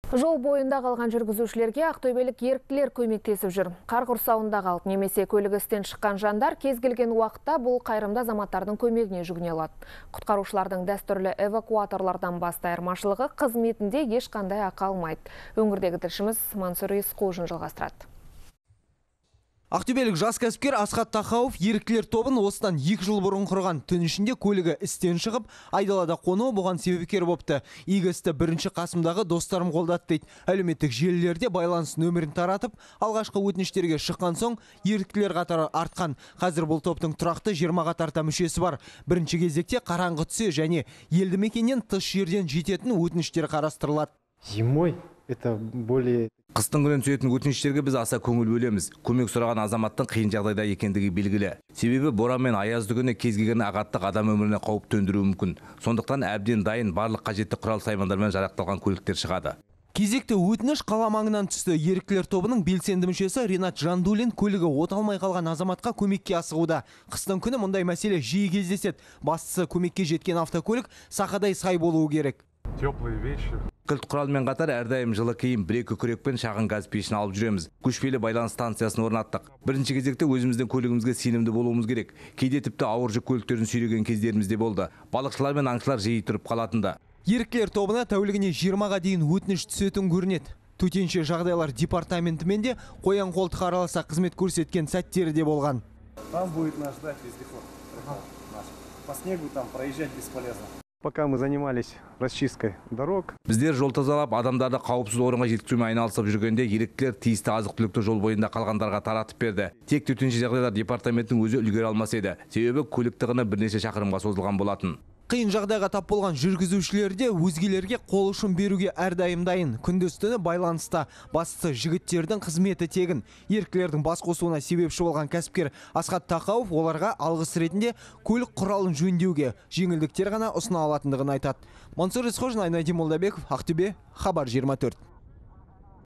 Жол бойында қалған жүргізушілерге ақтөбелік еріктілер көмектесіп жүр. Қар құрсауында қалып немесе көлігі істен шыққан жандар кез келген уақытта бұл қайырымды азаматтардың көмегіне жүгіне алады. Құтқарушылардың дәстүрлі эвакуаторлардан басты айырмашылығы қызметінде ешқандай ақы алмайды. Өңірдегі тілшіміз Мансұр Есқожин жалғастырады. Ақтөбелік жас кәсіпкер Асхат Тахауов еріктілер тобын осыдан 2 жыл бұрын құрған. Түн ішінде көлігі істен шығып, айдалада қонуы бұған себепкер бопты. Игі істі бірінші қасымдағы достарым қолдады дейді. Әлеуметтік желілерде байланыс нөмірін таратып, алғашқы өтініштерге шыққан соң еріктілер қатары артқан. Қазір бұл топтың тұрақты 20-ға тарта мүшесі бар. Бірінші кезекте қараңғы түсе және елді мекеннен тыс жерден жететін өтініштер қарастырылады. Зимой это более... Қыстың күнін түсетін өтініштерге біз аса көңіл бөлеміз. Көмек сұраған азаматтың қиын жағдайда екендігі белгілі. Себебі боран мен аязды күні кез келген ағаттық адам өміріне қауіп төндіруі мүмкін. Сондықтан әбден дайын барлық қажетті құрал саймандармен жарақталған көліктер шығады. Кезекті өтініш қала маңынан түсті. Еріктілер тобының белсенді мүшесі Ринат Жандулин көлігі оталмай қалған азаматқа көмекке асығуда. Қыстың күні мұндай мәселе жиі кездеседі. Бастысы көмекке жеткен автокөлік сақадай сай болуы керек. Теплые вещи. Кілт құралмен қатар әрдайым жылы киім, бір-екі күрек пен шағын газ пешін алып жүреміз. Көшпелі байланыс станциясын орнаттық. Бірінші кезекте өзіміздің көлігімізге сенімді болуымыз керек. Кейде тіпті ауыр жүк көліктерін сүйреген кездеріміз де болды. Балықшылар мен аңшылар жиі тұрып қалатынды. Еріктілер тобына тәулігіне 20-ға дейін өтініш түсетін көрінеді. Төтенше жағдайлар департаментімен де қоян қолтық араласа қызмет көрсеткен сәттері де болған. Там будет наш вездеход. По снегу там проезжать бесполезно. Пока мы занимались расчисткой дорог. Біздер жол тазалап, адамдарды қауіпсіз орынға жеткізумен айналысып жүргенде еріктілер тиісті азық-түлікті жол бойында қалғандарға таратып берді. Тек төтенше жағдайлар департаментінің өзі үлгере алмас еді. Себебі көлік тығыны бірнеше шақырымға созылған болатын. Қиын жағдайға тап болған жүргізушілер де өзгелерге қол ұшын беруге әрдайым дайын. Күндіз-түні байланыста. Бастысы жігіттердің қызметі тегін. Еріктілердің бас қосуына себепші болған кәсіпкер Асхат Тахауов оларға алғыс ретінде көлік құралын жөндеуге жеңілдіктер ғана ұсына алатындығын айтады. Мансұр Есқожин, Айнадин Молдабеков, Ақтөбе, Хабар 24.